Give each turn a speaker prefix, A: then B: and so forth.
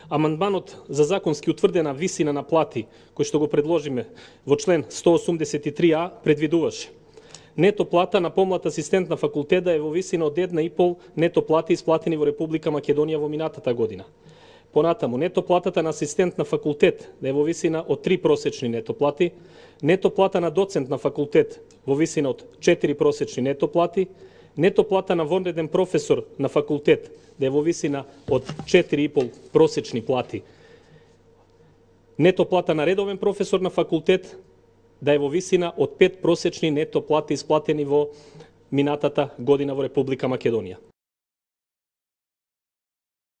A: Амандманот за законски утврдена висина на плати, кој што го предложиме во член 183а, предвидуваше нето плата на помлад асистент на факултет да е во висина од 1,5 нето плати исплатени во Република Македонија во минатата година. Понатаму, нето платата на асистент на факултет да е во висина од 3 просечни нето плати, нето плата на доцент на факултет во висина од 4 просечни нето плати, нето плата на вонреден професор на факултет да е во висина од 4,5 просечни плати, нето плата на редовен професор на факултет да е во висина од 5 просечни нето плати исплатени во минатата година во Република Македонија.